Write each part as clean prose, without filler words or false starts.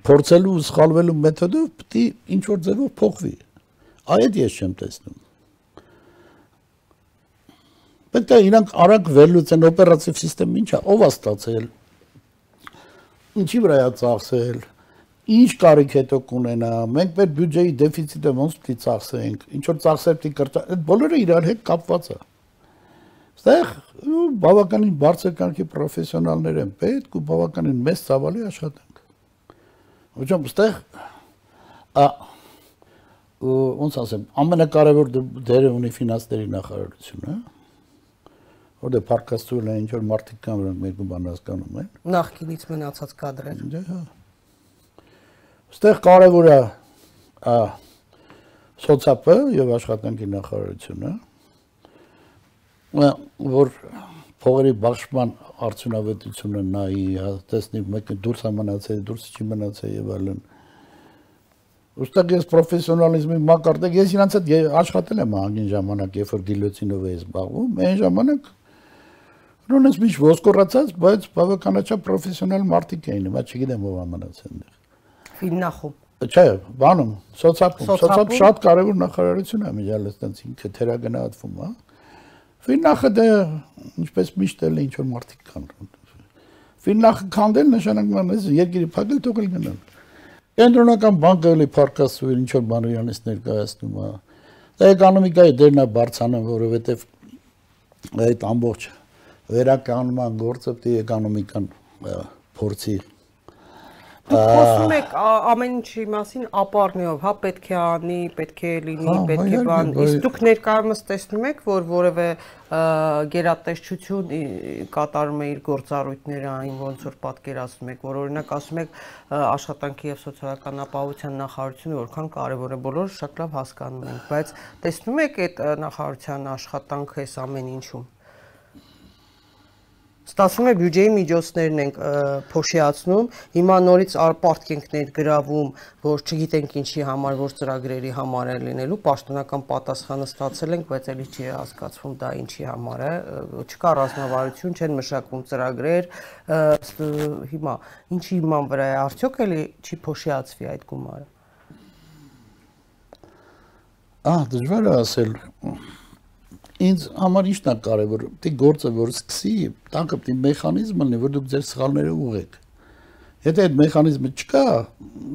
փորձելու ու սխալվելու մեթոդով պետք է ինչ որ ձևով փոխվի։ Այդ ես չեմ տեսնում։ Պետք է իրանք արագ վերլուծեն օպերատիվ սիստեմը ինչա, ով է ստացել, ինչի վրա է ծախսել, ինչ կարիք հետո կունենա, մենք մեր բյուջեի դեֆիցիտը ոնց պետք է ծախսենք, ինչ որ ծախսեր պետք է կրճատել, այդ բոլորը իրար հետ կապված է։ Այստեղ բավականին բարձր կարգի պրոֆեսիոնալներ են պետք ու բավականին մեծ ծավալի աշխատանք։ Ոչմ այստեղ ոնց ասեմ, ամենակարևոր դերը ունի ֆինանսների նախարարությունը, որտեղ փառքաստուել են ինչ որ մարդիկ կան, որոնք մեկը բան հասկանում են։ Նախկինից մնացած կադրեր։ Դե հա։ Այստեղ կարևոր է սոցիալը եւ աշխատանքի նախարարությունը, որ փողերի բաշխման արդյունավետությունը նայի, տեսնի մեկը դուրս է մնացել, դուրս չի մնացել եւ այլն։ Ուստեղ ես պրոֆեսիոնալիզմի մակարդակ, ես իրանց հետ աշխատել եմ անգին ժամանակ, երբ որ դիլոցինով էի զբաղվում, այն ժամանակ Ռոնես միջ ոսկորացած, բայց բավականաչափ պրոֆեսիոնալ մարդիկ էին, հիմա չգիտեմ ով մնացել այնտեղ։ Ֆիննախում։ Չէ, բանում, սոցիալ շատ կարևոր նախարարություն է միջալ այդտենց ինքը թերագնահատվում, հա։ Ֆիննախը դե ինչպես միշտ էլ ինչ որ մարդիկ կան։ Ֆիննախը քանդել նշանակում է երկիրի փակել թողել գնալ։ Կենտրոնական բանկը էլի փառքաստուել ինչ որ բան իրանից ներկայացնում է։ Դա էկոնոմիկայի դերն է բարձրանում, որովհետև այդ ամբողջ վերականգնման գործը պետք է էկոնոմիկան փորձի։ Խոսում եք ամեն ինչի մասին ապառնիով, հա պետք է անի, պետք է լինի, պետք է բան, իսկ դուք ներկայումս տեսնում եք, որ որևէ գերատեսչություն կատարում է իր գործառույթները այն ոնց որ պատկերացնում եք, որ օրինակ ասում եք աշխատանքի եւ սոցիալական ապահովության նախարարությունը որքան կարեւոր է, բոլորը շատ լավ հասկանում են, բայց տեսնում եք այդ նախարարության աշխատանքը այս ամեն ինչում։ Ստացվում է բյուջեի միջոցներն ենք փոշիացնում, հիմա նորից պարտք ենք ներգրավում, որ չգիտենք ինչի համար, որ ծրագրերի համար է լինելու, պաշտոնական պատասխանը ստացել ենք, բայց էլի չի հասկացվում դա ինչի համար է, չկա ռազմավարություն, չեն մշակում ծրագրեր, հիմա ինչի հիման վրա է, արդյոք էլի չի փոշիացվի այդ գումարը։ Դժվար է ասել։ Ինձ համար ինչն է կարևոր, պետք է գործը որ սկսի, տանկը պետք է մեխանիզմ լինի, որ դուք ձեր սխալները ուղղեք։ Եթե այդ մեխանիզմը չկա,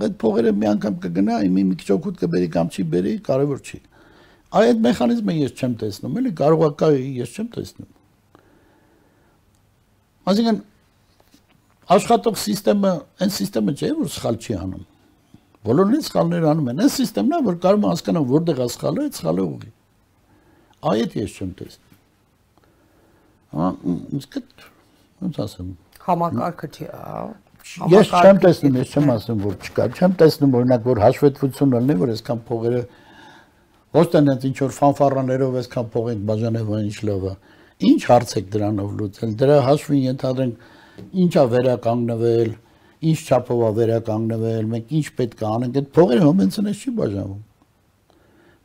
այդ փողերը մի անգամ կգնա, մի քիչ օգուտ կբերի կամ չի բերի, կարևոր չի։ Այդ մեխանիզմը ես չեմ տեսնում, էլի կարող է կա, ես չեմ տեսնում։ Այսինքն աշխատող համակարգը, այն համակարգը չէ, որ սխալ չի անում։ Բոլորն սխալներ անում են, այն համակարգն է, որ կարող է հասկանալ որտեղ է սխալը, այդ սխալը ուղղի։ Այդ ես չեմ տեսնում։ Ոնց ասեմ։ Համակարգը չի, Ես չեմ տեսնում, ես չեմ ասում, որ չկա, չեմ տեսնում օրինակ, որ հաշվետվություն լինի, որ այսքան փողերը ոչ թե ինչ որ ֆանֆարաներով այսքան փող ենք բաժանել, ինչ լավ է։ Ինչ հարց եք դրանով լուծել։ Դրա հաշվին ենթադրենք ինչա վերականգնվել, ինչ չափով է վերականգնվել, մենք ինչ պետք է անենք, այդ փողերը հոմենցնես չի բաժանվում։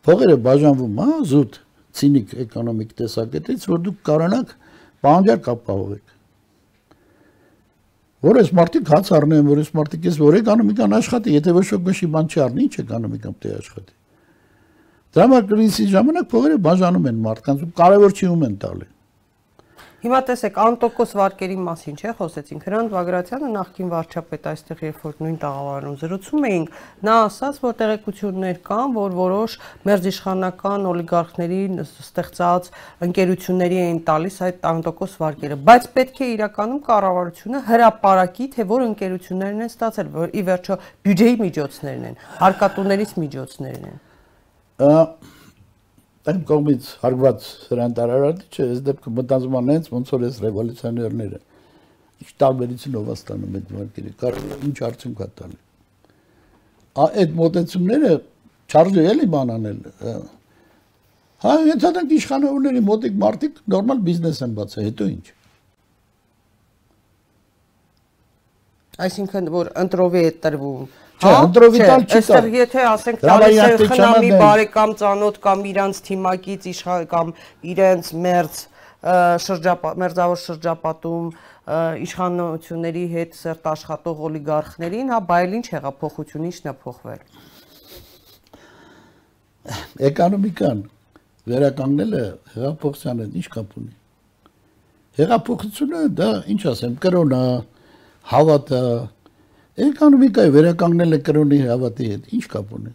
Փողերը բաժանվում, հա, զուտ ցինիկ էկոնոմիկ տեսակետից, որ դուք կարողանաք պահանջարկ ապահովեք։ Որ այս մարդիկ հաց առնեն, որ այս մարդիկ ես որ էկոնոմիկան աշխատի, եթե ոչ ոք գշի բան չի առնի, ինչ էկոնոմիկան պետք է աշխատի։ Դրամակրիզի ժամանակ փողերը բաժանում են մարդկանց ու կարևոր չի ում են տալի։ Հիմա տեսեք, անտոկոս վարկերի մասին չէ խոսեցինք, Հրանտ Բագրատյանը նախկին վարչապետ այստեղ երբ որ նույն տաղավարում զրուցում էինք, նա ասաց, որ տեղեկություններ կան, որ որոշ մերձիշխանական օլիգարխների ստեղծած ընկերությունների էին տալիս այդ անտոկոս վարկերը, բայց պետք է իրականում կառավարությունը հրապարակի, թե որ ընկերություններն են ստացել, որ ի վերջո բյուջեի միջոցներն են, հարկատուներից միջոցներն են։ Այն կողմից հարգված Հրանտ Արարատիչը, այս դեպքում մտածում եմ հենց ոնց որ էս ռևոլյուցիոներները ինչ տարբերությունով ստանում այդ վարկերը, կարող ինչ արդյունք է տալի։ Այդ մոտեցումները չարժե էլի բան անել։ Հա, ենթադրենք իշխանավորների մոտիկ մարդիկ նորմալ բիզնես են բացել, հետո ինչ։ Այսինքն որ ընտրովի է տրվում։ Չէ, ընտրովի տալ չի տա։ Այստեղ եթե ասենք տալիս է խնամի բարեկամ ծանոթ կամ իրանց թիմակից կամ իրենց մերձավոր շրջապատում իշխանությունների հետ սերտ աշխատող օլիգարխներին, հա, բայց ինչ հեղափոխություն, ինչն է փոխվել։ Էկոնոմիկան վերականգնելը հեղափոխության հետ ինչ կապ ունի։ Հեղափոխությունը դա ինչ ասեմ, կրոնը, հավատը, էկոնոմիկայի վերականգնելը կրոնի հավատի հետ ինչ կապ ունի։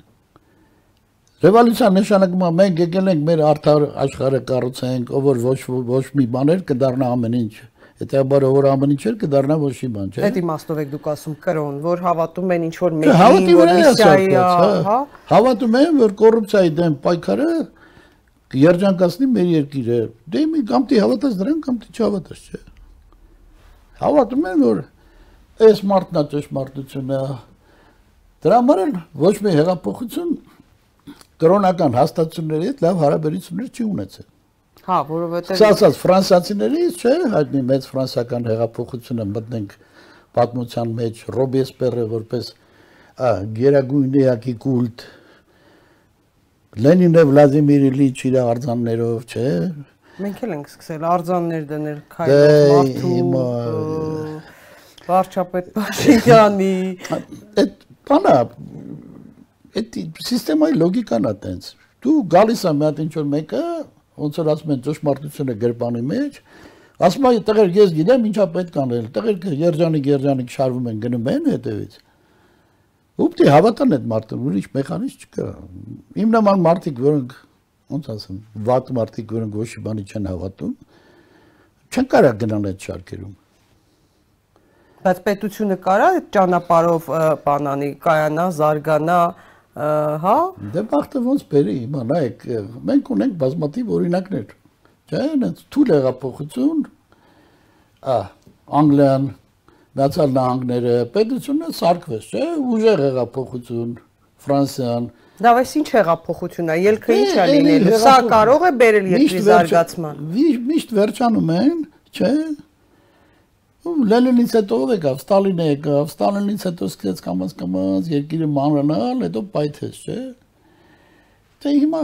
Ռևոլյուցիան նշանակում է մենք եկել ենք մեր արդար աշխարհը կառուցենք, ով որ ոչ մի բաներ կդառնա ամեն ինչ։ Հետեւաբար որ ամեն ինչ էր կդառնա ոչ մի բան, չէ՞։ Այդ իմաստով եք դուք ասում կրոն, որ հավատում են ինչ որ մեկին, որ միսիայի, հա։ Հավատում են, որ կոռուպցիայի դեմ պայքարը երջանկացնի մեր երկիրը։ Դե մի կամ դի հավատաս դրան, կամ դի չհավատաս, չէ։ Հավատում են, որ այս մարդն է ճշմարտությունը։ Դրա համար էլ ոչ մի հեղափոխություն կրոնական հաստատությունների հետ լավ հարաբերություններ չի ունեցել։ Հա, որովհետև Սասած ֆրանսիացիներից, չէ, հայտնի մեծ ֆրանսիական հեղափոխությունը մտնենք պատմության մեջ Ռոբեսպերը որպես գերագույն էակի կուլտ Լենինը Վլադիմիր Իլիչ իր արձաններով, չէ։ մենք էլ ենք սկսել արձաններ դնել Քայլով Մարդու, վարչապետ Փաշինյանի։ Այդ բանը այդ սիստեմայի լոգիկան է տենց։ Դու գալիս ես մի հատ ինչ որ մեկը, ոնց որ ասում են ճշմարտությունը գրպանի մեջ, ասում է տղեր ես գիտեմ ինչա պետք անել, տղերքը երջանիկ շարվում են գնում են հետևից։ Ուպտի հավատան այդ մարդը, ուրիշ մեխանիզմ չկա։ Իմ նման մարդիկ, որոնք ոնց ասեմ, վատ մարդիկ, որոնք ոչ մի բանի չեն հավատում, չեն կարող գնալ այդ շարքերում։ Բայց պետությունը կարա այդ ճանապարհով բանանի, կայանա, զարգանա, հա։ Դե բախտը ոնց բերի, հիմա նայեք, մենք ունենք բազմաթիվ օրինակներ։ Չէ՞, այնց թույլ հեղափոխություն, Անգլիան, Միացյալ Նահանգները, պետությունը սարքվեց, չէ՞, ուժեղ հեղափոխություն, Ֆրանսիան։ Դա այս ինչ հեղափոխություն է, ելքը ինչ է լինելու։ Սա կարող է բերել երկրի զարգացման։ Միշտ վերջանում են, չէ՞։ Լենինից հետո ով եկավ, Ստալինը եկավ, Ստալինից հետո սկսեց կամաց երկիրը մանրանալ, հետո պայթեց, չէ՞։ Դե հիմա